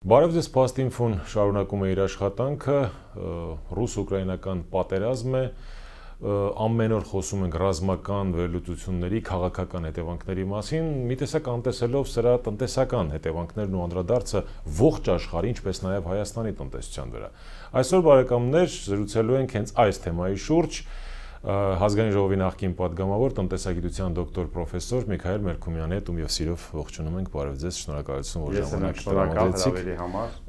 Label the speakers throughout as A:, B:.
A: Բարև ձեզ, Փաստինֆոն շարունակում է իր աշխատանքը, ռուս-ուկրաինական պատերազմ է, ամեն օր խոսում ենք ռազմական վերլուծությունների, քաղաքական հետևանքների մասին, մի տեսակ անտեսելով սրա տնտեսական հետևանքներն ու անդրադարձը ողջ աշխարհի, ինչպես նաև Հայաստանի տնտեսության վրա։ Այսօր բարեկամներ զրուցելու ենք հենց այս թեմայի շուրջ Ազգային ժողովի նախկին պատգամավոր տնտեսագիտության դոկտոր պրոֆեսոր Միքայել Մելքումյանի հետ ում եւ սիրով ողջունում ենք, բարև ձեզ, շնորհակալություն, որ ժամանակ
B: տրամադրեցիք։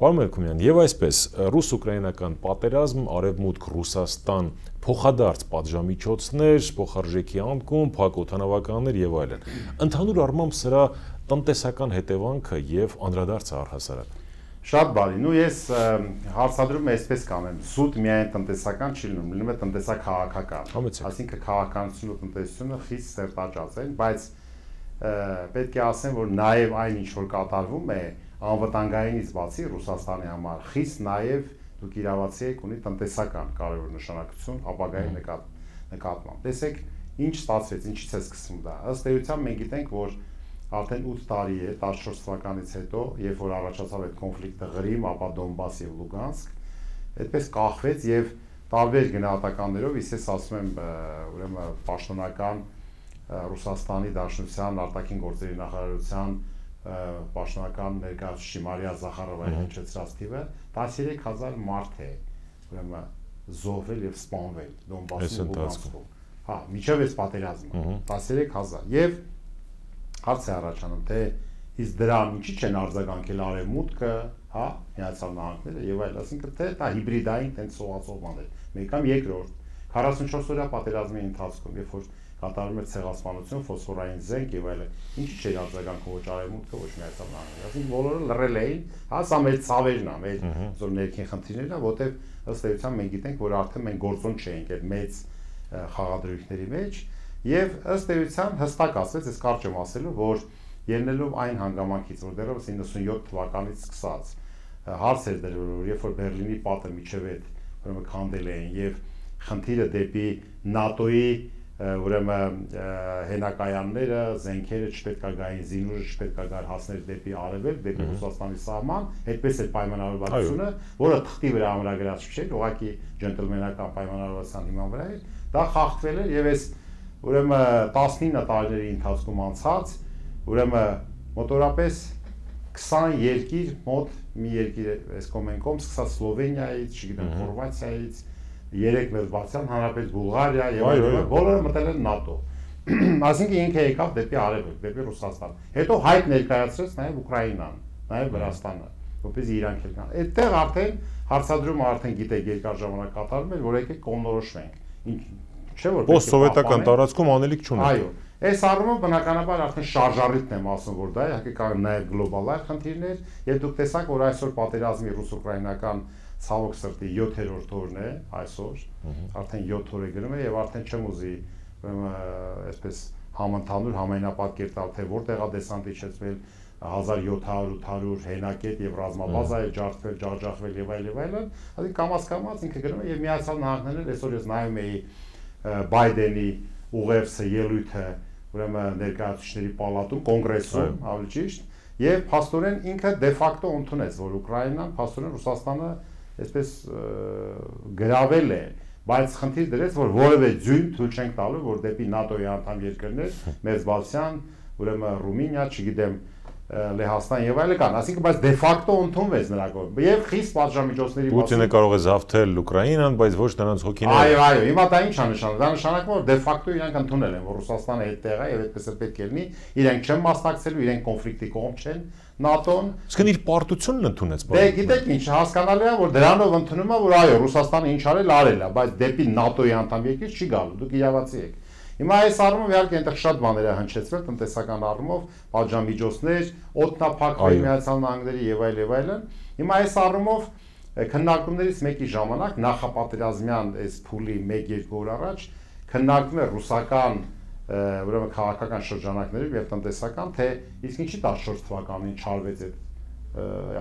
A: Պարոն Մելքումյան, եւ այսպես ռուս-ուկրաինական պատերազմ, արևմուտք Ռուսաստան, փոխադարձ պատժամիջոցներ, փոխարժեքի անկում, փակ օդանավականներ եւ այլն։ Ընդհանուր առմամբ սրա տնտեսական հետևանքը եւ անդրադարձը առհասարակ։
B: Շատ բարի, ես հարցադրում եմ այսպես կանեմ, զուտ միայն տնտեսական չի լինում է տնտեսա-քաղաքական, այսինքն քաղաքականությունը ու տնտեսությունը խիստ սերտաճած են, բայց պետք է ասեմ, որ նաև այն ինչ որ կատարվում է անվտանգայինից բացի Ռուսաստանի համար, խիստ նաև դուք իրավացի եք ունի տնտեսական կարևոր նշանակություն ապագայի նկատմամբ։ Տեսեք, ինչ ստացվեց, ինչից է սկսվում դա։ Ըստ էության մենք գիտենք, որ արդեն 8 տարի է 14 թվականից հետո, երբ որ առաջացավ այդ կոնֆլիկտը Ղրիմ, ապա Դոնբաս եւ Լուգանսկ, այդպես կախվեց եւ տարբեր գնահատականներով, ես ասում եմ, ուրեմն պաշտոնական Ռուսաստանի Դաշնության արտաքին գործերի նախարարության պաշտոնական ներկայացուցիչ Մարիա Զախարովայի հնչեցրած թիվը 13000 մարդ է, ուրեմն զոհվել եւ սպանվել Դոնբասում ու Լուգանսկում։ Հա, միջև այս պատերազմը 13000 եւ հարց է առաջանում, թե իսկ դրան ինչի չեն արձագանքել արևմուտքը, հա, Միացյալ Նահանգները եւ այլ, ասինքն թե դա հիբրիդային տենց սողացող բան է։ Մեկ կամ երկրորդ 44 օրյա պատերազմի ընթացքում, երբ որ կատարվում էր ցեղասպանություն, ֆոսֆորային զենք եւ այլն, ինչի չէր արձագանքում ոչ արևմուտքը, ոչ Միացյալ Նահանգները։ Ասինքն բոլորը լռել էին, հա, սա մեր ցավերն է, մեր զոր ներքին խնդիրներն է, որտեւ ըստ էության մենք գիտենք, որ արդեն մենք գործոն չենք այդ մեծ խաղադրույքների մեջ։ Եվ ըստ էության հստակ ասվեց, ես կարճ եմ ասելու, որ ելնելով այն հանգամանքից, որ դեռևս 97 թվականից սկսած հարց էր դրվել, որ երբ որ Բերլինի պատը միջև այդ ուրեմն քանդել էին եւ խնդիրը դեպի ՆԱՏՕ-ի ուրեմն հենակայանները, զենքերը չպետք է գային, զինուժը չպետք է գար հասներ դեպի արևելք, դեպի Ռուսաստանի սահման, այդպես էր պայմանավորվածությունը, որը թղթի վրա ամրագրած չէր, ուղղակի ջենտլմենական պայմանավորվածության հիման վրա էր, դա խախտվել էր եւ այս ուրեմն 19 տարիների ընթացքում անցած, ուրեմն մոտորապես 20 երկիր, մոտ մի երկիր այս կոմենկոմ, սկսած Սլովենիայից, չգիտեմ, Խորվաթիայից, 3 Մերբացյան Հանրապետ Բուլղարիա եւ այլն, բոլորը մտել են ՆԱՏՕ։ Այսինքն ինքը եկավ դեպի արևելք, դեպի Ռուսաստան։ Հետո հայտ ներկայացրեց նաեւ Ուկրաինան, նաեւ Վրաստանը, որպեսզի իրանք էլ կան։ Այդտեղ արդեն հարցադրումը արդեն գիտեք երկար ժամանակ կատարվում էր, որ եկեք կողմնորոշվենք։ Չէ՞ որ
A: post-սովետական տարածքում անելիք չունենք։
B: Այո, այս առումով բնականաբար արդեն շարժառիթն եմ ասում, որ դա իհարկե կա նաև գլոբալ խնդիրներ, եւ դուք տեսաք, որ այսօր պատերազմի ռուս-ուկրաինական ցավոք սրտի 7-րդ օրն է այսօր, արդեն 7 օր է գնում է եւ արդեն չեմ ուզի այսպես համընդհանուր համայնապատկեր տալ, թե որտեղ է դեսանտ իջեցվել 1700-800 հենակետ եւ ռազմաբազա է ջարդվել, ջախջախվել եւ այլն, այսինքն կամաց-կամաց ինքը գնում է եւ Միացյալ Նահանգներն այսօր ես նայում էի Բայդենի ուղերձը ելույթը ուրեմն ներկայացուցիչների պալատում, կոնգրեսում, ավելի ճիշտ, եւ փաստորեն ինքը դե ֆակտո ընդունեց, որ Ուկրաինան, փաստորեն Ռուսաստանը այսպես գրավել է, բայց խնդիր դրեց, որ որևէ ձյուն թույլ չենք տալու, որ դեպի ՆԱՏՕ-ի անդամ երկրներ, Մերձբալթյան, ուրեմն Ռումինիա, չգիտեմ, Լեհաստան եւ այլն կան, այսինքն բայց դե ֆակտո ընդունվեց նրա կողմից եւ խիստ պատժամիջոցների
A: Պուտինը կարող է զավթել Ուկրաինան, բայց ոչ նրանց հոգիները։
B: Այո, հիմա դա ինչ է նշանակում։ Դա նշանակում է որ դե ֆակտո իրանք ընդունել են, որ Ռուսաստանը այդտեղ է եւ այդպես էլ պետք է լինի, իրենք չեն մասնակցելու, իրենք կոնֆլիկտի կողմ չեն, ՆԱՏՕ-ն։
A: Իսկ իր պարտությունն ընդունեց։
B: Դե գիտեք ինչ, հասկանալի է, որ դրանով ընդունում է, որ այո, Ռուսաստանը ինչ արել է, բայց դեպի ՆԱՏՕ-ի անդամ երկիր չի գալու, դուք իրավացի եք։ Հիմա այս առումով իհարկե այնտեղ շատ բաներ է հնչեցվել տնտեսական առումով, պատժամիջոցներ, օդնափակվի Միացյալ Նահանգների եւ այլն։ Հիմա այս առումով քննարկումներից մեկի ժամանակ նախապատերազմյան այս փուլի 1-2 օր առաջ քննարկվում է ռուսական ուրեմն քաղաքական շրջանակներով եւ տնտեսական, թե իսկ ինչի 14 թվականին չարվեց այդ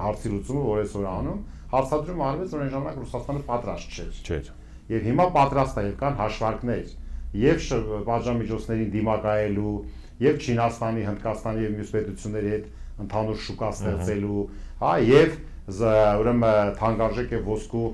B: հարցի լուծումը, որ այսօր անում, հարցադրում արվեց, որ այն ժամանակ Ռուսաստանը պատրաստ չէր։ Եվ հիմա պատրաստ է եւ կան հաշվարկներ եւ պատժամիջոցներին դիմակայելու, եւ Չինաստանի, Հնդկաստանի եւ մյուս պետությունների հետ ընդհանուր շուկա ստեղծելու, հա, եւ ուրեմն թանկարժեք է ոսկու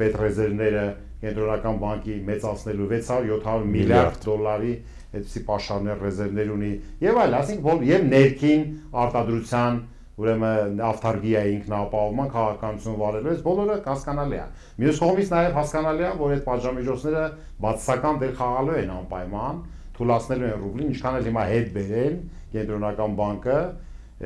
B: պետրեզերվները կենտրոնական բանկի մեծացնելու 600-700 միլիարդ դոլարի այդպիսի պաշարներ ռեզերվներ ունի եւ այլ, ասենք եւ ներքին արտադրության ուրեմն ավտարգիայի ինքնապահովման քաղաքականություն վարելու է, բոլորը հասկանալի է։ Մյուս կողմից նաեւ հասկանալի է, որ այդ պատժամիջոցները բացասական դեր խաղալու են անպայման, թույլատնելու են ռուբլին, ինչքան էլ հիմա հետ բերեն կենտրոնական բանկը,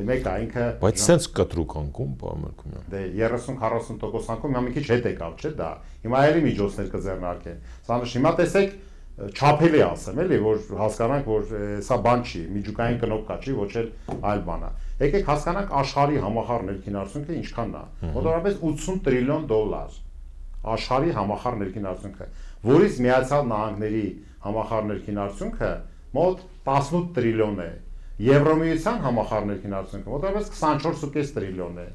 B: մեկ է ինքը
A: բայց sense կտրուկ անկում, պարոն Մերկումյան։
B: Դե 30-40% անկում մի քիչ հետ եկավ, չէ՞ դա։ Հիմա էլի միջոցներ կձեռնարկեն։ Սա հիմա տեսեք չափելի ասեմ, էլի, որ հասկանանք, որ սա բան չի, միջուկային կնոպ կա, չի, ոչ էլ այլ բան է։ Եկեք հասկանանք աշխարհի համախառն ներքին արդյունքը ինչքանն է։ Մոտավորապես 80 տրիլիոն դոլար աշխարհի համախառն ներքին արդյունքը, որից Միացյալ Նահանգների համախառն ներքին արդյունքը մոտ 18 տրիլիոն է։ Եվրոմիության համախառն ներքին արդյունքը մոտավորապես 24.5 տրիլիոն է։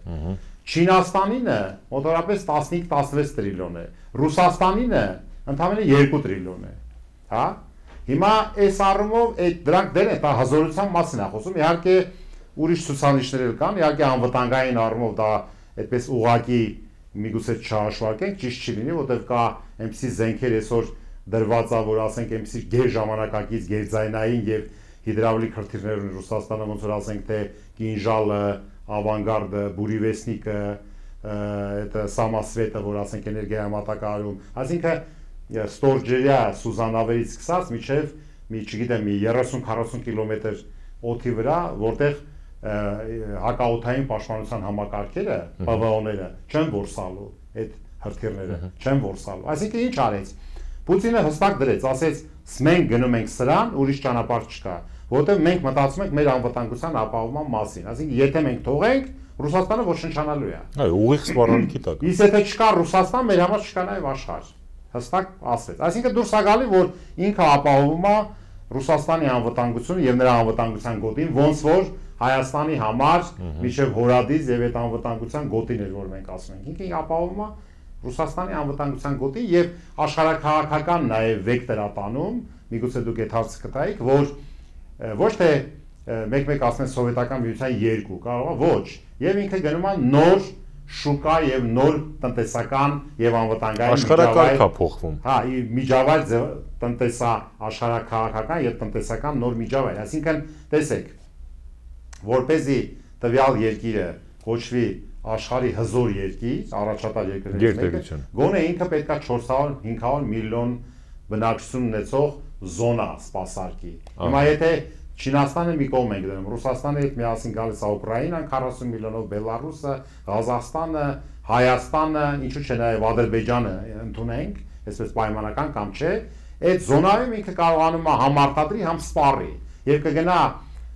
B: Չինաստանինը մոտավորապես 15-16 տրիլիոն է։ Ռուսաստանինը ընդամենը 2 տրիլիոն է։ Հա? Հիմա այս առումով այդ դրանք դեր է, դա հզորության մասին է խոսում։ Իհարկե ուրիշ ցուցանիշներ էլ կան, իհարկե անվտանգային առումով դա այդպես ուղղակի միգուցե չհաշվարկենք, ճիշտ չի լինի, որտեղ կա այնպիսի զենքեր այսօր դրված է, որ ասենք այնպիսի գերժամանակակից գերձայնային եւ հիդրավլիկ հրթիռներ ունի Ռուսաստանը, ոնց որ ասենք թե Կինժալը, Ավանգարդը, Բուրիվեսնիկը, այդ Սամասվետը, որ ասենք էներգիայամատակարարում, այսինքն ստորջերյա Սուզանավերից սկսած միջև մի չգիտեմ մի 30-40 կիլոմետր օդի վրա, որտեղ հակաօդային պաշտպանության համակարգերը, ՊՎՕ-ները չեն որսալու այդ հրթիռները, չեն որսալու։ Այսինքն ինչ արեց։ Պուտինը հստակ դրեց, ասեց, մենք գնում ենք սրան, ուրիշ ճանապարհ չկա, որտեղ մենք մտածում ենք մեր անվտանգության ապահովման մասին։ Այսինքն եթե մենք թողենք, Ռուսաստանը ոչնչանալու է։
A: Այո, ուղիղ սպառնալիքի տակ։
B: Իսկ եթե չկա Ռուսաստան, մեր համար չկա նաև աշխարհ։ Հստակ ասեց։ Այսինքն դուրս է գալի, որ ինքը ապահովում է Ռուսաստանի անվտանգությունը եւ նրա անվտանգության գոտին, ոնց որ Հայաստանի համար միջև հորադից եւ այդ անվտանգության գոտին էր, որ մենք ասում ենք։ Ինքը ապահովում է Ռուսաստանի անվտանգության գոտին եւ աշխարհակաղակական նաեւ վեկտոր ատանում, միգուցե դուք այդ հարցը կտայիք, որ ոչ թե մեկ-մեկ ասեն սովետական միության 2, կարող է ոչ, եւ ինքը գնում է նոր շուկա եւ նոր տնտեսական եւ անվտանգային
A: աշխարհակարգ է փոխվում։
B: Հա, միջավայր տնտեսա աշխարհակաղակական եւ տնտեսական նոր միջավայր, այսինքն տեսեք, որպեսզի տվյալ երկիրը կոչվի աշխարհի հզոր երկիր, առաջատար երկրներից մեկը, գոնե ինքը պետքա 400-500 միլիոն բնակչություն ունեցող զոնա սպասարկի։ Հիմա եթե Չինաստանը մի կողմ ենք դնում, Ռուսաստանը հետ միասին գալիս է Ուկրաինան 40 միլիոնով, Բելարուսը, Ղազախստանը, Հայաստանը, ինչու՞ չէ նաև Ադրբեջանը ընդունենք, այսպես պայմանական կամ չէ, այդ զոնայում ինքը կարողանում է համարտադրի, համ սպառի եւ կգնա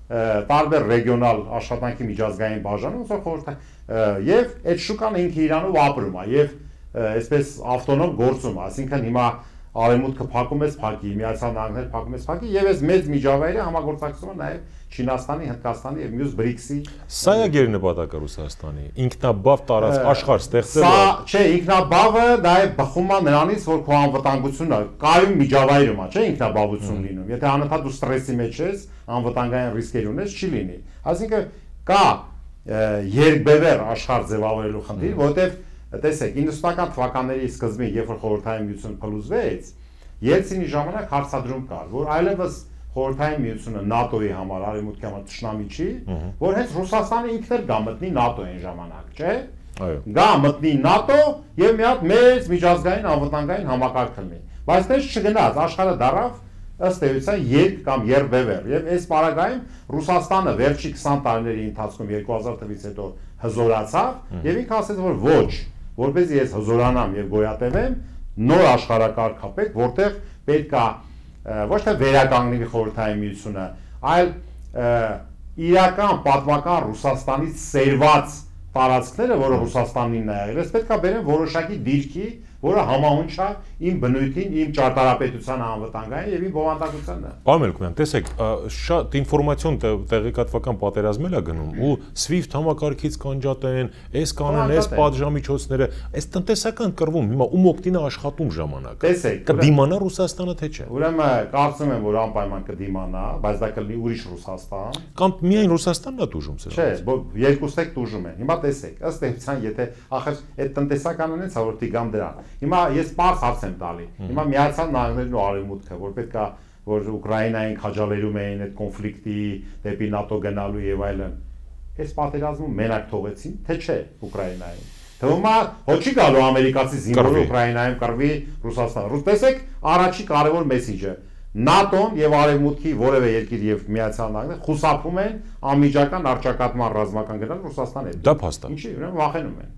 B: տարբեր ռեգիոնալ աշխատանքի միջազգային բաժանում, ոնց որ խորհրդ եւ այդ շուկան ինքը իրանով ապրում է եւ այսպես ավտոնոմ գործում է, այսինքն հիմա Արևմուտքը փակում է փակի, Միացյալ Նահանգները փակում է փակի եւ այս մեծ միջավայրը համագործակցում է նաեւ Չինաստանի, Հնդկաստանի եւ մյուս BRICS-ի։
A: Սա է գերնպատակը Ռուսաստանի, ինքնաբավ տարած աշխարհ ստեղծելը։
B: Սա չէ, ինքնաբավը նաեւ բխում է նրանից, որ քո անվտանգությունը կայուն միջավայրում է, չէ, ինքնաբավություն լինում։ Եթե անընդհատ դու ստրեսի մեջ ես, անվտանգային ռիսկեր ունես, չի լինի։ Այսինքն կա երկբևեռ աշխարհ ձևավորելու խնդիր, որովհետեւ տեսեք, 90-ական թվականների սկզբին, երբ որ խորհրդային միությունը փլուզվեց, Ելցինի ժամանակ հարցադրում կար, որ այլևս խորհրդային միությունը ՆԱՏՕ-ի համար, արևմուտքի համար ճշնամի չի, որ հենց Ռուսաստանը ինքն էլ գա մտնի ՆԱՏՕ-ին ժամանակ, չէ՞։
A: Այո։
B: Գա մտնի ՆԱՏՕ եւ մի հատ մեծ միջազգային անվտանգային համակարգ լինի։ Բայց դες չգնաց, աշխարհը դարավ ըստ էության երկ կամ երբևեռ եւ այս պարագայում Ռուսաստանը վերջի 20 տարիների ընթացքում 2000 թվականից հետո հզորացավ եւ ինքը ասաց որ ոչ, որպեսզի ես հզորանամ եւ գոյատևեմ, նոր աշխարհակարգ հապեք, որտեղ պետք է ոչ թե վերականգնի խորհրդային միությունը, այլ իրական պատմական Ռուսաստանից սերված տարածքները, որը Ռուսաստանին է եղել, պետք է բերեն որոշակի դիրքի որը համահունչ է իմ բնույթին, իմ ճարտարապետության անվտանգային եւ իմ բովանդակությանը։
A: Պարոն Մելքոյան, տեսեք, շատ ինֆորմացիոն տեղեկատվական պատերազմ է գնում ու SWIFT համակարգից կանջատեն, այս կանեն, այս պատժամիջոցները, այս տնտեսական կռվում, հիմա ում օգտին է աշխատում ժամանակը։ Կդիմանա Ռուսաստանը թե չէ։
B: Ուրեմն կարծում եմ, որ անպայման կդիմանա, բայց դա կլինի ուրիշ Ռուսաստան։
A: Կամ միայն Ռուսաստանն է տուժում սրանից։
B: Չէ, երկուսն էլ տուժում են։ Հիմա տեսեք, ըստ էության, եթե ախր այդ տնտեսականն է, որ դիգամ դրան։ Հիմա ես բարձ հարց եմ տալի։ Հիմա Միացյալ Նահանգներն ու Արևմուտքը, որ պետք է որ Ուկրաինային քաջալերում էին այդ կոնֆլիկտի դեպի ՆԱՏՕ գնալու եւ այլն։ Այս պատերազմում մենակ թողեցին, թե չէ Ուկրաինային։ Թվում է, ոչ չի գալու ամերիկացի զինվորը Ուկրաինայում կռվի Ռուսաստան։ Ռուս տեսեք, առաջի կարևոր մեսիջը ՆԱՏՕ-ն եւ Արևմուտքի որևէ երկիր եւ Միացյալ Նահանգները խուսափում են անմիջական առճակատման ռազմական գնալ Ռուսաստանի հետ։
A: Դա փաստա։
B: Ինչի, ուրեմն վախենում են։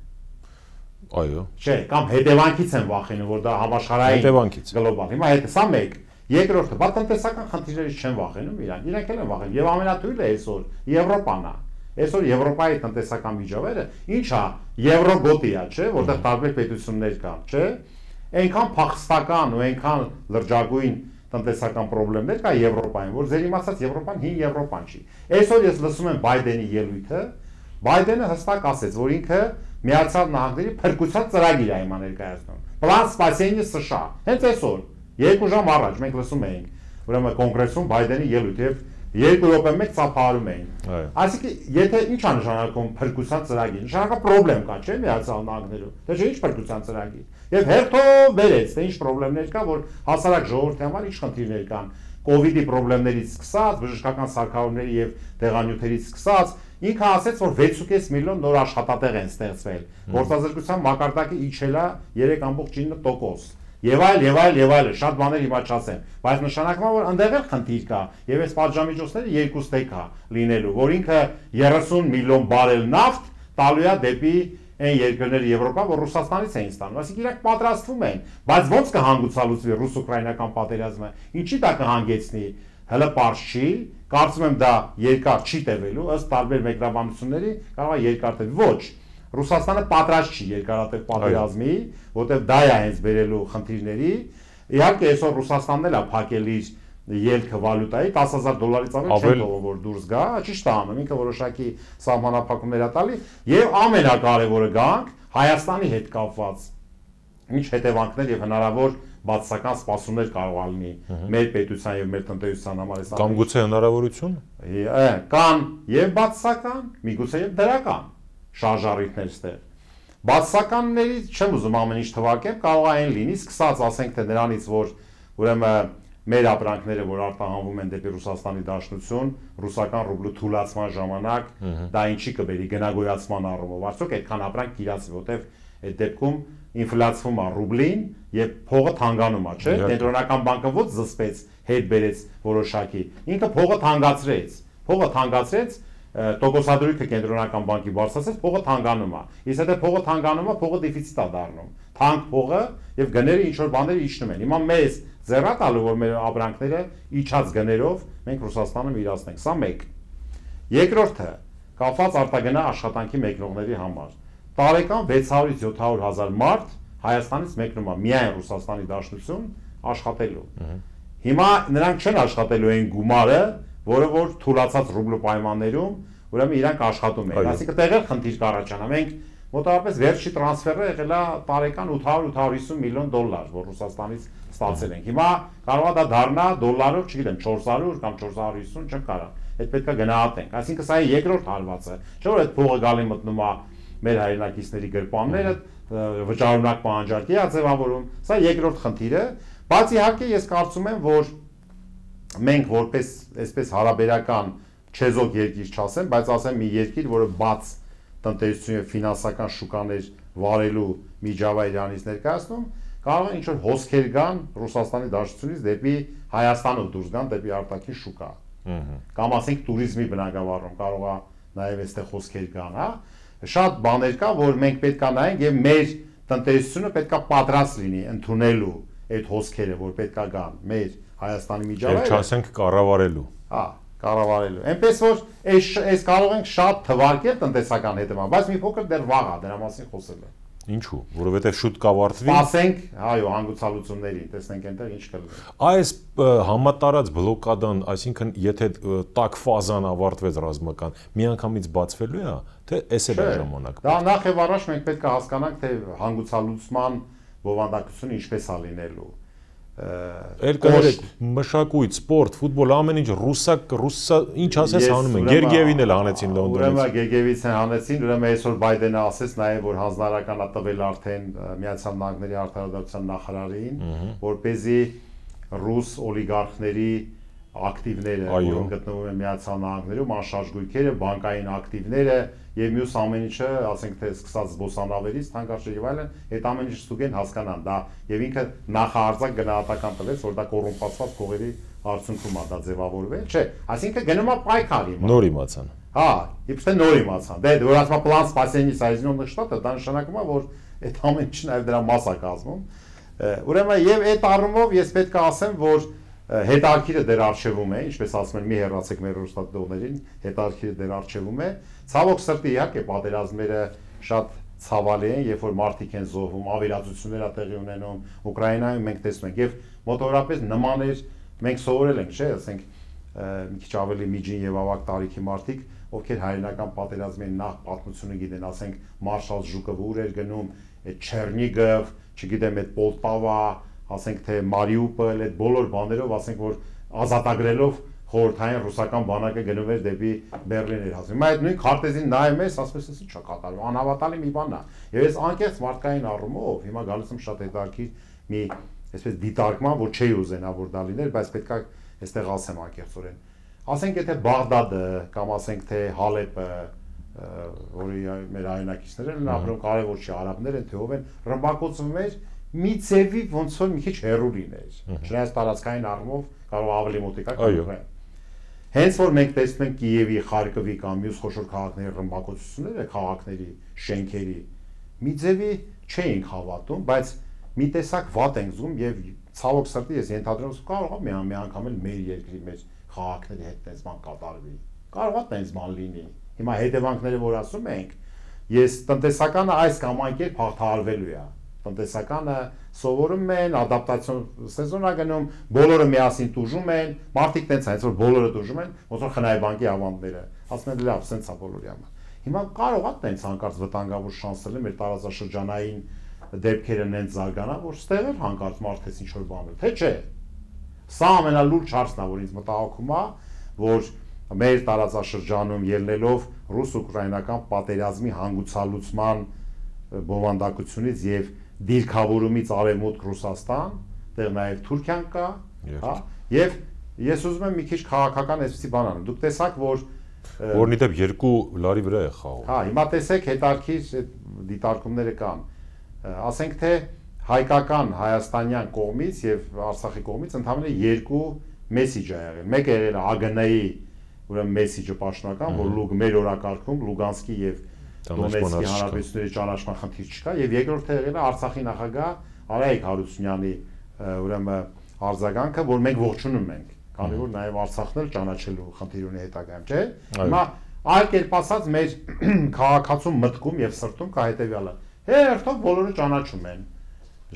A: Այո։
B: Չէ, կամ հետևանքից են վախենում, որ դա համաշխարհային գլոբալ։ Հիմա հետ սա մեկ։ Երկրորդը, բա տնտեսական խնդիրներից չեն վախենում իրանք էլ են վախենում։ Եվ ամենաթույլը այսօր Եվրոպան է։ Այսօր Եվրոպայի տնտեսական միջավայրը ինչ է, Եվրոգոտի է, չէ, որտեղ տարբեր պետություններ կան, չէ։ Այնքան փախստական ու այնքան լրջագույն տնտեսական խնդիրներ կա Եվրոպայում, որ ձեր իմացած Եվրոպան հին Եվրոպան չի։ Այսօր ես լսում եմ Բայդենի ելույթը, Բայդենը հստակ ասեց, որ ինքը Միացյալ Նահանգների փրկության ծրագիր է հիմա ներկայացնում։ Պլան Սպասենի США։ Հենց այսօր 2 ժամ առաջ մենք լսում էինք, ուրեմն կոնգրեսում Բայդենի ելույթ եւ 2 րոպե մեկ ծափահարում էին։ Այսինքն, եթե ինչ է նշանակում փրկության ծրագիր, նշանակա խնդրեմ կա, չէ՞ Միացյալ Նահանգներում։ Դա չէ՞ ինչ փրկության ծրագիր։ Եվ հերթով վերեց, թե ինչ խնդիրներ կա, որ հասարակ ժողովրդի համար ինչ խնդիրներ կան։ Կովիդի խնդիրներից սկսած, բժշկական սարքավորումների եւ տեղանյութերից սկսած, ինքը ասաց, որ 6.5 միլիոն նոր աշխատատեղ են ստեղծվել։ Գործազրկության մակարդակը իջել է 3.9%։ Եվ այլ, շատ բաներ հիմա չասեմ, բայց նշանակում է, որ այնտեղ էլ խնդիր կա, եւ այս պատժամիջոցները երկու ստեկ է լինելու, որ ինքը 30 միլիոն բարել նավթ տալու է դեպի այն երկրները Եվրոպա, որ Ռուսաստանից էին ստանում, այսինքն իրանք պատրաստվում են, բայց ոնց կհանգուցալուծվի ռուս-ուկրաինական պատերազմը, ինչի դա կհանգեցնի, հələ պարզ չի, կարծում եմ դա երկար չի տևելու, ըստ տարբեր մեկնաբանությունների կարող է երկար տևի, ոչ Ռուսաստանը պատրաստ չի երկարատև պատերազմի, որտեղ դա է հենց բերելու խնդիրների։ Իհարկե այսօր Ռուսաստանն էլ է փակել իր ելքը վալյուտայի $10,000-ից ավել չեն թողում որ դուրս գա, ճիշտ է անում, ինքը որոշակի սահմանափակումներ է տալի եւ ամենակարևորը գանք Հայաստանի հետ կապված ինչ հետևանքներ եւ հնարավոր բացասական սպասումներ կարող է լինի մեր պետության եւ մեր տնտեսության համար։
A: Կամ գուցե հնարավորություն։
B: Կան եւ բացասական, միգուցե եւ դրական շարժառիթներ ստեղ։ Բացասականներից չեմ ուզում ամեն ինչ թվարկեմ, կարող է այն լինի, սկսած ասենք թե նրանից, որ ուրեմն մեր ապրանքները, որ արտահանվում են դեպի Ռուսաստանի Դաշնություն, ռուսական ռուբլու թուլացման ժամանակ, դա ինչի կբերի գնագոյացման առումով, արդյոք այդքան ապրանք իրացվի, որտեղ այդ դեպքում ինֆլյացվում է ռուբլին եւ փողը թանկանում է, չէ՞։ Կենտրոնական բանկը ոչ զսպեց, հետ բերեց որոշակի, ինքը փողը թանկացրեց, տոկոսադրույքը կենտրոնական բանկի բարձրացեց, փողը թանկանում է։ Իսկ եթե փողը թանկանում է, փողը դեֆիցիտ է դառնում։ Թանկ փողը եւ գները ինչ որ բաներ իջնում են։ Հիմա մեզ ձեռա տալու որ մեր ապրանքները իջած գներով մենք Ռուսաստանում իրացնենք։ Սա մեկ։ Երկրորդը կապված արտագնա աշխատանքի մեկնողների համար։ Տարեկան 600-ից 700 հազար մարդ Հայաստանից մեկնում է միայն Ռուսաստանի Դաշնություն աշխատելու։ Հիմա նրանք չեն աշխատելու այն գումարը, որը որ թուլացած ռուբլու պայմաններում, ուրեմն իրանք աշխատում են։ Այսինքն տեղել խնդիր կառաջանա։ Մենք մոտավորապես վերջի տրանսֆերը եղել է տարեկան 800-850 միլիոն դոլար, որ Ռուսաստանից ստացել ենք։ Հիմա կարող է դա դառնա դոլարով, չգիտեմ, 400 կամ 450, չեմ կարող։ Այդ պետք է գնահատենք։ Այսինքն սա է երկրորդ հարվածը։ Չէ՞ որ այդ փողը գալի մտնում է մեր հայրենակիցների գրպանները, վճարունակ պահանջարկի է ձևավորում։ Սա երկրորդ խնդիրը, բայց իհարկե ես կարծում եմ, որ մենք որպես այսպես հարաբերական չեզոք երկիր չասեմ, բայց ասեմ մի երկիր, որը բաց տնտեսություն եւ ֆինանսական շուկաներ վարելու միջավայր իրանից ներկայացնում, կարող է ինչ-որ հոսքեր գան Ռուսաստանի Դաշնությունից դեպի Հայաստանով դուրս գան դեպի արտաքին շուկա։ Կամ ասենք туриզմի բնագավառում կարող է նաեւ այստեղ հոսքեր գան, հա։ Շատ բաներ կա, որ մենք պետք է նայենք եւ մեր տնտեսությունը պետք է պատրաստ լինի ընդունելու այդ հոսքերը, որ պետք է գան մեր Հայաստանի միջավայրը։
A: Եվ չասենք կառավարելու։
B: Հա, կառավարելու։ Այնպես որ այս կարող ենք շատ թվարկել տնտեսական հետևանքներ, բայց մի փոքր դեռ վաղ է դրա մասին խոսելը։
A: Ինչու՞, որովհետև շուտ կավարտվի։
B: Սպասենք, այո, հանգուցալուծումներին, տեսնենք այնտեղ ինչ կլինի։
A: Այս համատարած բլոկադան, այսինքն եթե տաք ֆազան ավարտվեց ռազմական, միանգամից բացվելու է, թե էս է ժամանակ։
B: Դա նախ եւ առաջ մենք պետք է հասկանանք, թե հանգուցալուծման բովանդակությունը ինչպես է լինելու։
A: Երկրորդ մշակույթ, սպորտ, ֆուտբոլ, ամեն ինչ ռուսա, ինչ ասես հանում են։ Գերգիևին էլ հանեցին Լոնդոնից։
B: Ուրեմն Գերգիևին հանեցին, ուրեմն այսօր Բայդենը ասեց նաև, որ հանձնարարական է տվել արդեն Միացյալ Նահանգների արտարադատության նախարարին, որպեսզի ռուս օլիգարխների ակտիվները, որոնք գտնվում են Միացյալ Նահանգներում, անշարժ գույքերը, բանկային ակտիվները եւ մյուս ամեն ինչը, ասենք թե սկսած զբոսանավերից, թանկարժեք եւ այլն, այդ ամեն ինչը ստուգեն հասկանան դա եւ ինքը նախահարձակ գնահատական տվեց, որ դա կոռումպացված փողերի արդյունքում է դա ձևավորվել, չէ, այսինքն գնում է պայքարի։
A: Նոր իմացան։
B: Հա, իբրե նոր իմացան։ Դե որ ասма պլան սպասենի Соединенных Штатов, դա նշանակում է, որ այդ ամեն ինչը նաեւ դրա մաս է կազմում։ Ուրեմն եւ այդ առումով ես պետք է ասեմ, որ հետարքիրը դեր արխիվում է, ինչպես ասում են, մի հեռացեք մեր ռուստատողներին, հետարքիրը դեր արխիվում է։ Ցավոք սրտի իհարկե պատերազմները շատ ցավալի են, երբ որ մարդիկ են զոհվում, ավերածություններ ա տեղի ունենում, Ուկրաինայում մենք տեսնում ենք եւ մոտավորապես նմաներ մենք սովորել ենք, չէ՞, ասենք մի քիչ ավելի միջին եւ ավագ տարիքի մարդիկ, ովքեր հայրենական պատերազմի նախ պատմությունը գիտեն, ասենք Մարշալ Ժուկովը ուր էր գնում, այդ Չերնիգով, չգիտեմ, այդ Պոլտավա, ասենք թե Մարիուպոլ, այդ բոլոր բաներով, ասենք որ ազատագրելով խորհրդային ռուսական բանակը գնում էր դեպի Բերլին էր հասնում։ Հիմա այդ նույն քարտեզին նայում ես, ասես էս ինչա կատարվում, անհավատալի մի բան է։ Եվ ես անկեղծ մարդկային առումով հիմա գալիս եմ շատ հետաքրքիր մի այսպես դիտարկման, որ չի ուզենա որ դա լիներ, բայց պետքա այստեղ ասեմ անկեղծորեն։ Ասենք եթե Բաղդադը կամ ասենք թե Հալեպը, որի մեր հայրենակիցներն են ապրում, կարևոր չի արաբներ են, թե ով են, ռմբակոծվում էր մի ձևի ոնց որ մի քիչ հեռու լիներ։ Չնայած տարածքային առումով կարող ավելի մոտիկա կլինի։ Հենց որ մենք տեսնում ենք Կիևի, Խարկովի կամ մյուս խոշոր քաղաքների ռմբակոծությունները, քաղաքների, շենքերի, մի ձևի չէինք հավատում, բայց մի տեսակ վատ ենք զգում եւ ցավոք սրտի ես ենթադրում եմ կարող է մի անգամ էլ մեր երկրի մեջ քաղաքների հետ տես բան կատարվի։ Կարող է տես բան լինի։ Հիմա հետևանքները որ ասում ենք, ես տնտեսականը այս կամ այն կերպ հաղթահարվելու է։ Տնտեսականը սովորում են, ադապտացիոն սեզոն է գնում, բոլորը միասին տուժում են, մարդիկ տենց այնց որ բոլորը տուժում են, ոնց որ խնայ բանկի ավանդները, ասում են լավ, սենց է բոլորի համար։ Հիմա կարող է տենց հանկարծ վտանգավոր շանսել մեր տարածաշրջանային դեպքերը նենց զարգանա, որ ստեղ էլ հանկարծ մարդես ինչ որ բան է, թե չէ։ Սա ամենալուրջ հարցն է, որ ինձ մտահոգում է, որ մեր տարածաշրջանում ելնելով ռուս-ուկրաինական պատերազմի հանգուցալուծման բովանդակությունից եւ դիրքավորումից արևմուտք Ռուսաստան, դեռ նաև Թուրքիան կա, հա, եւ ես ուզում եմ մի քիչ քաղաքական այսպիսի բան անեմ։ Դուք տեսաք, որ
A: որնի դեպ երկու լարի վրա է խաղում։
B: Հա, հիմա տեսեք հետարքիր այդ դիտարկումները կան։ Ասենք թե հայկական հայաստանյան կողմից եւ Արցախի կողմից ընդհանրապես երկու մեսիջ ա եղել։ Մեկը եղել է ԱԳՆ-ի, ուրեմն մեսիջը պաշտոնական, որ մեր օրակարգում Լուգանսկի եւ Դոնեցկի հանրապետությունների ճանաչման խնդիր չկա եւ երկրորդը եղել է Արցախի նախագահ Արայիկ Հարությունյանի ուրեմն արձագանքը, որ մենք ողջունում ենք, քանի որ նաեւ Արցախն էլ ճանաչելու խնդիր ունի հետագայում, չէ՞։ Հիմա այլ կերպ ասած մեր քաղաքացու մտքում եւ սրտում կա հետեւյալը. հերթով բոլորը ճանաչում են։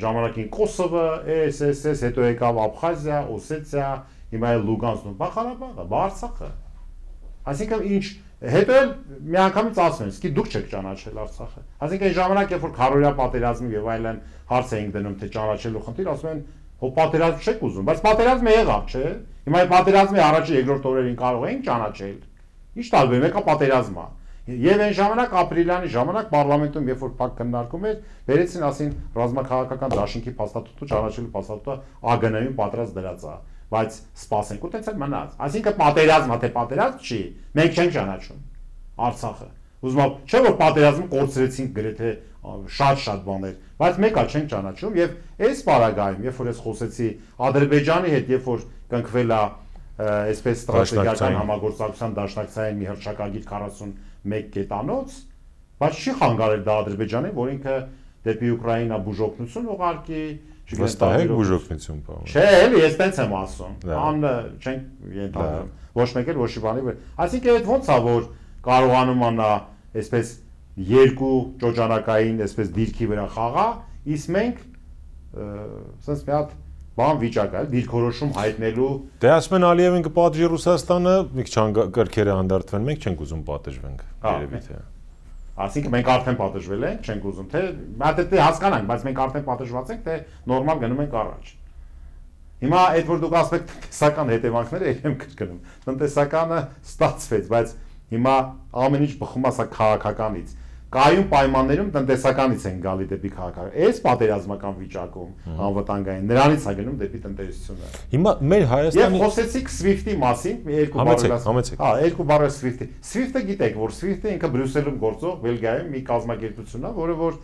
B: Ժամանակին Կոսովը, SSS, հետո եկավ Աբխազիա, Օսեթիա, հիմա էլ Լուգանսկն ու Ղարաբաղը, Արցախը։ Այսինքն ինչ հետո էլ միանգամից ասում են, իսկ դուք չեք ճանաչել Արցախը։ Այսինքն այն ժամանակ, երբ որ քարորյա պատերազմի եւ այլն հարց էինք դնում, թե ճանաչելու խնդիր, ասում են, հո պատերազմ չեք ուզում, բայց պատերազմը եղավ, չէ՞։ Հիմա այդ պատերազմի առաջի երկրորդ օրերին կարող էինք ճանաչել։ Ինչ տարբեր, մեկը պատերազմ է։ Եվ այն ժամանակ ապրիլյանի ժամանակ պարլամենտում, երբ որ փակ քննարկում էր, վերեցին ասին ռազմաքաղաքական դաշինքի փաստաթուղթը ճանաչելու փաստաթուղթը ԱԳՆ-ին պատրաստ դրած է, բայց սպասենք ու տենց էլ մնաց։ Այսինքն պատերազմը թե պատերազմ չի, մենք չենք ճանաչում Արցախը։ Ուզում եմ, չէ՞ որ պատերազմը կորցրեցինք գրեթե շատ բաներ, բայց մեկը չենք ճանաչում եւ այս պարագայում, երբ որ ես խոսեցի Ադրբեջանի հետ, երբ որ կնքվել է այսպես ստրատեգիական համագործակցության դաշնակցային մի հռչակագիր 41 կետանոց, բայց չի խանգարել դա Ադրբեջանին, որ ինքը դեպի Ուկրաինա բուժօգնություն ուղարկի,
A: վստահ բուժօգնություն բան։
B: Չէ, էլի ես տենց եմ ասում։ Ան չենք ենթադրում։ Ոչ մեկ էլ ոչ մի բանի վրա։ Այսինքն այդ ոնց է որ կարողանում անա այսպես երկու ճոճանակային այսպես դիրքի վրա խաղա, իսկ մենք sense մի հատ բան վիճակ է, դիրքորոշում հայտնելու։
A: Դե ասում են Ալիևին կպատժի Ռուսաստանը, մի քիչ կրքերը հանդարտվեն, մենք չենք ուզում պատժվենք, երևի թե։
B: Այսինքն մենք արդեն պատժվել ենք, չենք ուզում, թե դե հասկանանք, բայց մենք արդեն պատժված ենք, թե նորմալ գնում ենք առաջ։ Հիմա այդ որ դուք ասեք տնտեսական հետևանքները եմ կրկնում։ Տնտեսականը ստացվեց, բայց հիմա ամեն ինչ բխում է սա քաղաքականից։ Կայուն պայմաններում տնտեսականից են գալի դեպի քաղաքական։ Այս պատերազմական վիճակում անվտանգային նրանից է գնում դեպի տնտեսությունը։
A: Հիմա մեր Հայաստանի
B: Եվ խոսեցիք SWIFT-ի մասին, երկու բառեր։ Հա, երկու բառեր SWIFT-ի։ SWIFT-ը գիտեք, որ SWIFT-ը ինքը Բրյուսելում գործող Բելգիայում մի կազմակերպություն է, որը որ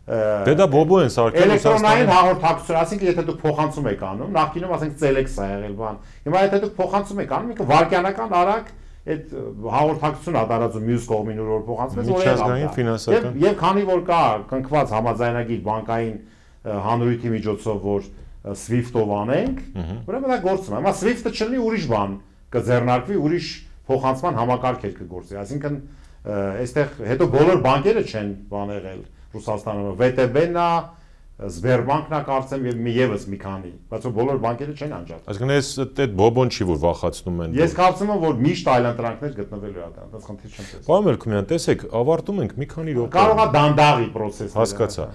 A: Դե դա բոբո են սարքել
B: էլեկտրոնային հաղորդակցություն, ասինքն եթե դուք փոխանցում եք անում, նախկինում ասենք Telex է եղել բան։ Հիմա եթե դուք փոխանցում եք անում, ինքը վարկյանական արագ այդ հաղորդակցությունը տարածում մյուս կողմին որ փոխանցվեց
A: միջազգային ֆինանսական
B: եւ քանի որ կա կնքված համաձայնագիր բանկային հանրույթի միջոցով որ SWIFT-ով անենք, ուրեմն դա գործում է։ Հիմա SWIFT-ը չլինի ուրիշ բան կձեռնարկվի, ուրիշ փոխանցման համակարգեր կգործի, այսինքն այստեղ հետո բոլոր բանկերը չեն բան եղել Ռուսաստանում, VTB-ն է, Sberbank-ն է կարծեմ եւ եւս մի քանի, բայց բոլոր բանկերը չեն անջատել։
A: Այսինքն այդ բոբոն չի որ վախացնում են։
B: Ես կարծում եմ որ միշտ այլընտրանքներ գտնվելու է դա, դա խնդիր չեմ տեսնում։
A: Պարոն Մելքումյան, տեսեք, ավարտում ենք մի քանի րոպե։
B: Կարող է դանդաղի process։
A: Հասկացա։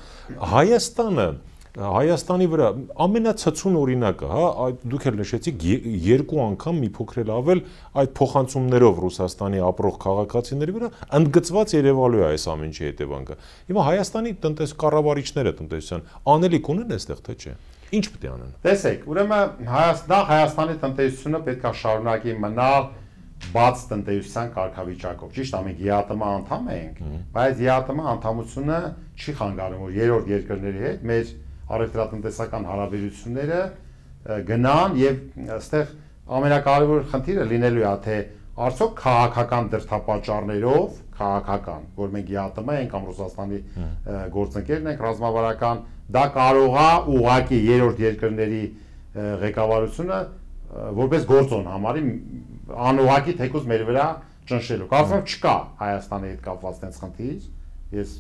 A: Հայաստանի վրա ամենացածուն օրինակը, հա, դուք էլ նշեցիք երկու անգամ մի փոքր ավել այդ փոխանցումներով Ռուսաստանի ապրող քաղաքացիների վրա ընդգծված երևալու է այս ամենի հետևանքը։ Հիմա Հայաստանի կառավարիչները տնտեսության անելիք ունեն այստեղ թե չէ։ Ինչ պետք է անեն։
B: Տեսեք, ուրեմն Հայաստանի տնտեսությունը պետք է շարունակի մնալ բաց տնտեսության կարգավիճակով։ Ճիշտ է, մենք ԵԱՏՄ անդամ ենք, բայց ԵԱՏՄ անդամությունը չի խանգարում, որ երրորդ երկրների հետ մեր առևտրատնտեսական հարաբերությունները գնան եւ այստեղ ամենակարևոր խնդիրը լինելու է թե արդյոք քաղաքական դրդապատճառներով քաղաքական, որ մենք ԵԱՏՄ ենք կամ Ռուսաստանի գործընկերն ենք ռազմավարական, դա կարող է ուղղակի երրորդ երկրների ղեկավարությունը որպես գործոն համարի անուղղակի թեկուզ մեր վրա ճնշելու։ Կարծում եմ չկա Հայաստանի հետ կապված տենց խնդիր։ Ես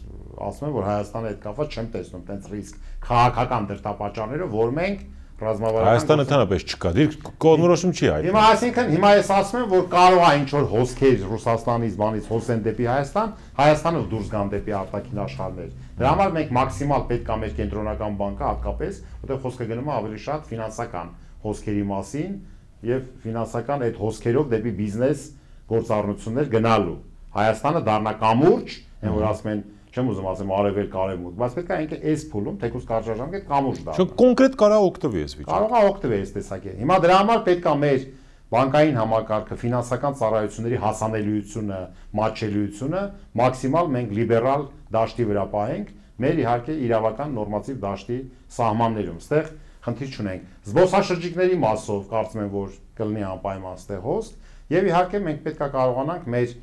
B: ասում եմ որ Հայաստանի հետ կապված չեմ տեսնում տենց ռիսկ քաղաքական դրդապատճառները, որ մենք ռազմավարական
A: Հայաստանը ընդհանրապես չկա, դիր կողմնորոշում չի այդ։
B: Հիմա այսինքն հիմա ես ասում եմ որ կարող է ինչ որ հոսքեր Ռուսաստանից բանից հոսեն դեպի Հայաստան, Հայաստանը դուրս գան դեպի արտաքին աշխարհներ։ Դրա համար մենք մաքսիմալ պետք է մեր կենտրոնական բանկը հատկապես, որտեղ խոսքը գնում է ավելի շատ ֆինանսական հոսքերի մասին եւ ֆինանսական այդ հոսքերով դեպի բիզնես գործառնություններ գնալու։ Հայաստանը դառնա կամուրջ, այն որ ասում են չեմ ուզում ասեմ արևելք արևմուտք, բայց պետք է ինքը այս փուլում թեկուզ կարճաժամկետ կամուրջ դառնա։
A: Շո կոնկրետ կարա օգտվի այս վիճակը։
B: Կարող է օգտվել այս տեսակետից։ Հիմա դրա համար պետք է մեր բանկային համակարգը, ֆինանսական ծառայությունների հասանելիությունը, մատչելիությունը մաքսիմալ մենք լիբերալ դաշտի վրա պահենք, մեր իհարկե իրավական նորմատիվ դաշտի սահմաններում։ Այստեղ խնդիր չունենք։ Զբոսաշրջիկների մասով կարծում եմ որ կլինի անպայման այստեղ հոսք, եւ իհարկե մենք պետք է կարողանանք մեր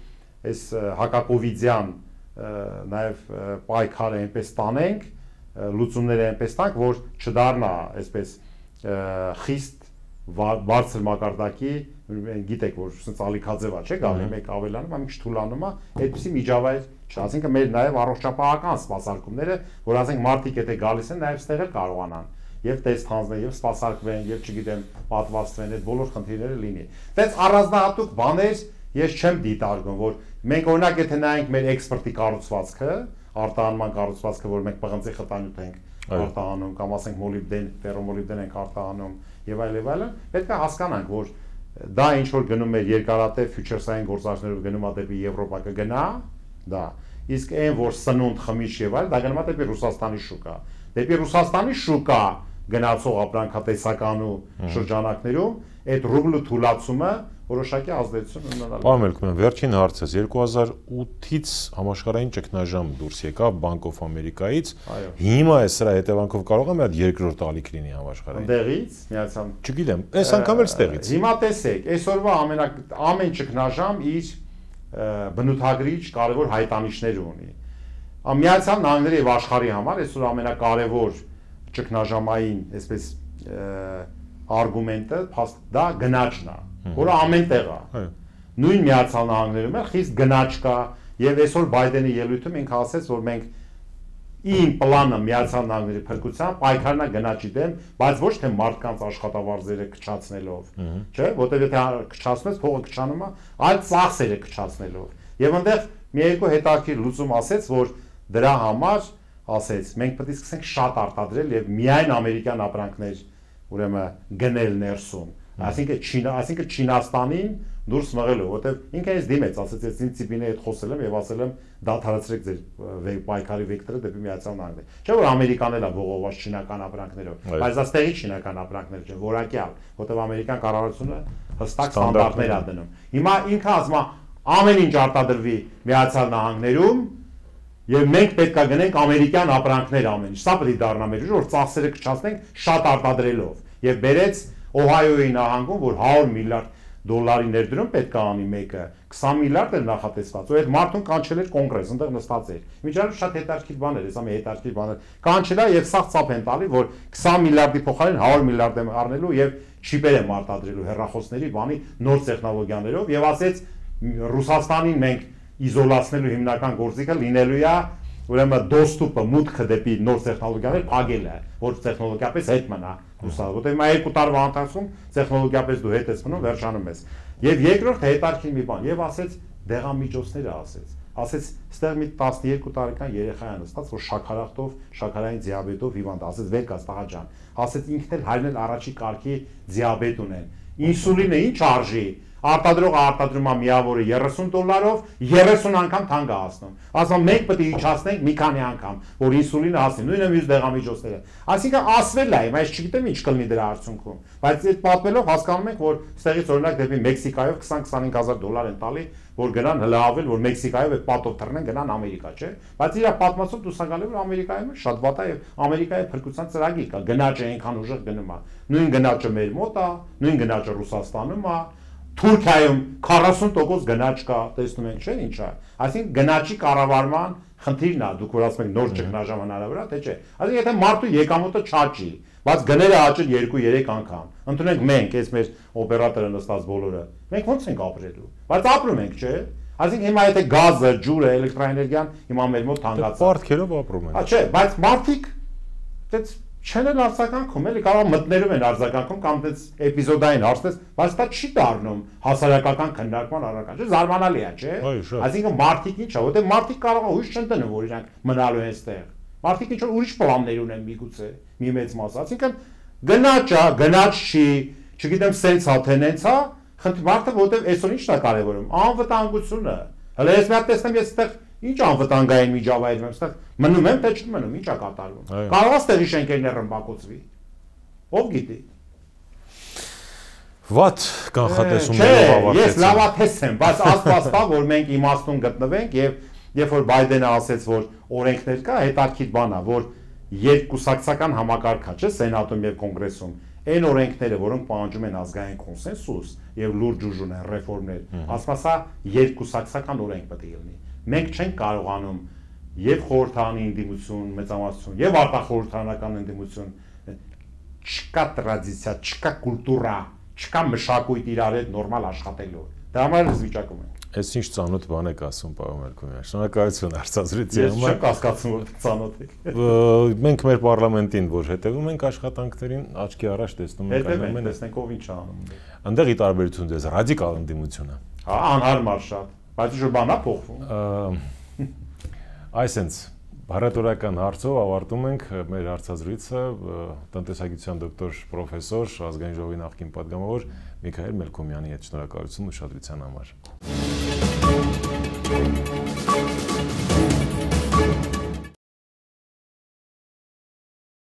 B: այս հակակովիդյան նաև պայքարը այնպես տանենք, լուծումները այնպես տանք, որ չդառնա այսպես խիստ բարձր մակարդակի, գիտեք որ ասենց ալիքաձև է, չէ՞ գալի մեկ ավելանում, ամիջ թուլանում է, այդպիսի միջավայր չի, ասինքն մեր նաև առողջապահական սպասարկումները, որ ասենք մարդիկ եթե գալիս են, նաև ստեղ էլ կարողանան եւ տեստ հանձնեն եւ սպասարկվեն եւ չգիտեմ պատվաստվեն, այդ բոլոր խնդիրները լինի։ Դες առանձնահատուկ բաներ ես չեմ դիտարկում, որ մենք օրինակ եթե նայենք մեր էքսպորտի կառուցվածքը, արտահանման կառուցվածքը, որ մենք պղնձի խտանյութ ենք արտահանում կամ ասենք մոլիբդեն, ֆերոմոլիբդեն ենք արտահանում եւ այլն, պետք է հասկանանք, որ դա ինչ որ գնում է երկարատև ֆյուչերսային գործարքներով գնում է դեպի Եվրոպա կգնա, դա։ Իսկ այն որ սնունդ խմիչ եւ այլ, դա գնում է դեպի Ռուսաստանի շուկա։ Դեպի Ռուսաստանի շուկա գնացող ապրանքատեսական ու շրջանակներում այդ ռուբլու թուլացումը որոշակի ազդեցություն ունենալու։
A: Պարոն Մելքումյան, վերջին հարցս 2008-ից համաշխարհային ճգնաժամ դուրս եկավ Bank of America-ից։ Հիմա է սրա հետևանքով կարող է մի հատ երկրորդ ալիք լինի համաշխարհային։
B: Այնտեղից միացան։
A: Չգիտեմ, այս անգամ էլ ստեղից։
B: Հիմա տեսեք, այսօրվա ամեն ճգնաժամ իր բնութագրիչ կարևոր հայտանիշներ ունի։ Միացյալ Նահանգների եւ աշխարհի համար այսօր ամենակարևոր ճգնաժամային, այսպես արգումենտը դա գնաճն է, որը ամենտեղ է։ Նույն Միացյալ Նահանգներում էլ խիստ գնաճ կա եւ այսօր Բայդենի ելույթում ինքը ասեց, որ մենք իմ պլանը Միացյալ Նահանգների փրկության պայքարն է գնաճի դեմ, բայց ոչ թե մարդկանց աշխատավարձերը քչացնելով, չէ, որտեղ եթե քչացնես, փողը քչանում է, այլ ծախսերը քչացնելով։ Եվ այնտեղ մի երկու հետաքրքիր լուծում ասեց, որ դրա համար ասեց, մենք պետք է սկսենք շատ արտադրել եւ միայն ամերիկյան ապրանքներ, ուրեմն գնել ներսում։ Այսինքն Չինաստանին դուրս մղելով, որտեվ ինքը ինձ դիմեց, ասեց, ես ինձ Ցիպինի հետ խոսել եմ եւ ասել եմ դադարեցրեք ձեր պայքարի վեկտորը դեպի Միացյալ Նահանգներ։ Չէ՞ որ ամերիկանն էլ է ողողված չինական ապրանքներով, բայց դա ստեղի չինական ապրանքներ չեն, որակյալ, որտեվ ամերիկյան կառավարությունը հստակ ստանդարտներ է դնում։ Հիմա ինքը ասում է ամեն ինչ արտադրվի Միացյալ Նահանգներում եւ մենք պետք է գնենք ամերիկյան ապրանքներ ամեն ինչ։ Սա պետք է դառնա մեր ուժը, որ ծախսերը կչացնենք շատ արտադրելով։ Եվ բերեց Օհայոյի նահանգում, որ 100 միլիարդ դոլարի ներդրում պետք է անի մեկը, 20 միլիարդ էր նախատեսված, ու այդ մարդուն կանչել էր կոնգրես, այնտեղ նստած էր։ Միջանալու շատ հետաքրքիր բան էր, հեսա մի հետաքրքիր բան էր։ Կանչել է եւ սաղ ծափ են տալի, որ 20 միլիարդի փոխարեն 100 միլիարդ եմ առնելու եւ չիպեր եմ արտադրելու հեռախոսների բանի նոր տեխնոլոգիաներով եւ ասեց Ռուսաստանին մենք իզոլացնելու հիմնական գործիքը լինելու է ուրեմն դոստուպը մուտքը դեպի նոր տեխնոլոգիաներ փակելը, որ տեխնոլոգիապես հետ մնա Ռուսաստանը, որտեղ հիմա 2 տարվա ընթացքում տեխնոլոգիապես դու հետ ես մնում, վերջանում ես։ Եվ երկրորդ հետարքի մի բան, եւ ասեց դեղամիջոցները ասեց, ստեղ մի 12 տարեկան երեխա է նստած, որ շաքարախտով, շաքարային դիաբետով հիվանդ, ասեց վեր կաց տղա ջան, ասեց ինքն էլ հայրն էլ առաջի կարգի դիաբետ ունեն։ Ինսուլինը ինչ արժի։ Արտադրողը արտադրում է միավորը $30, 30 անգամ թանկ է հասնում։ Ասում մենք պետք է իջացնենք մի քանի անգամ, որ ինսուլինը հասնի, նույնը մյուս դեղամիջոցները։ Այսինքն ասվել է, բայց չգիտեմ ինչ կլինի դրա արդյունքում։ Բայց այդ պատմելով հասկանում ենք, որ ստեղից օրինակ դեպի Մեքսիկայով 20-25,000 են տալի, որ գնան հլավել, որ Մեքսիկայով այդ պատով թռնեն գնան Ամերիկա, չէ՞։ Բայց իր պատմածով դու սակալի որ Ամերիկայում շատ վատ է եւ Ամերիկայի փրկության ծրագիր կա, գնաճը այնքան ուժեղ գնում է։ Նույն գնաճը մեր մոտ է, նույն գնաճը Ռուսաստանում է։ Թուրքիայում 40% գնաճ կա, տեսնում ենք, չէ՞, ինչ է։ Այսինքն գնաճի կառավարման խնդիրն է, դուք որ ասում եք նոր ճգնաժամ հնարավոր է, թե չէ։ Այսինքն եթե մարդու եկամուտը չաճի, բայց գները աճեն 2-3 անգամ, ընդունենք մենք, այս մեր օպերատորը նստած բոլորը, մենք ո՞նց ենք ապրելու։ Բայց ապրում ենք, չէ՞։ Այսինքն հիմա եթե գազը, ջուրը, էլեկտրաէներգիան հիմա մեր մոտ հանգած է։
A: Պարտքերով ապրում ենք։
B: Չէ, բայց մարդիկ դες չեն էլ արձագանքում, էլի կարող մտներում են արձագանքում կամ դες էպիզոդային հարցնես, բայց դա չի դառնում հասարակական քննարկման առարկա, չէ՞, զարմանալի է, չէ՞։ Այսինքն մարդիկ ինչ է, որտեղ մարդիկ կարող են հույս չեն դնում, որ իրանք մնալու են այստեղ։ Մարդիկ ինչ որ ուրիշ պլաններ ունեն միգուցե, մի մեծ մասը, այսինքն գնաճ է, գնաճ չի, չգիտեմ, սենց է, թե նենց է, մարդը որտեղ այսօր ինչն է կարևորում, անվտանգությունը։ Հələ ես մի հատ տեսնեմ, ես այստեղ ինչ անվտանգային միջավայրում եմ, այստեղ մնում եմ, թե չմնում, ինչ է կատարվում։ Կարող է այստեղի շենքերն ռմբակոծվի։ Ով գիտի։
A: Վատ կանխատեսումներով ավարտեցին։
B: Ես լավատես եմ, բայց աստված տա, որ մենք իմաստուն գտնվենք եւ երբ որ Բայդենը ասեց, որ օրենքներ կա, հետարքիդ բան է, որ երկկուսակցական համակարգ է, չէ՞, Սենատում եւ Կոնգրեսում, այն օրենքները, որոնք պահանջում են ազգային կոնսենսուս եւ լուրջ ուժ ունեն ռեֆորմներ, ասմասա երկկուսակցական օրենք պետք է լինի։ Մենք չենք կարողանում եւ խորհրդանի ընդդիմություն, մեծամասնություն եւ արտախորհրդանական ընդդիմություն, չկա տրադիցիա, չկա կուլտուրա, չկա մշակույթ իրար հետ նորմալ աշխատելու։ Դա համար ես վիճակում եմ։
A: Այս ինչ ծանոթ բան եք ասում, պարոն Մելքոմյան։ Շնորհակալություն հարցազրույցի
B: համար։ Ես չեմ կասկածում, որ ծանոթ եք։
A: Մենք մեր parlamentin, որ հետևում ենք աշխատանքներին, աչքի առաջ տեսնում ենք
B: այնուամենայնիվ տեսնենք ով ինչ է անում։
A: Այնտեղի տարբերությունն է ռադիկալ ընդդիմությունը։
B: Հա, անհարմար շատ, բայց ինչ որ բան է փոխվում։
A: Այսինքն Հարատորական հարցով ավարտում ենք մեր հարցազրույցը տնտեսագիտության դոկտոր պրոֆեսոր ազգային ժողովի նախկին պատգամավոր Միքայել Մելքոմյանի հետ։ Շնորհակալություն ուշադրության համար։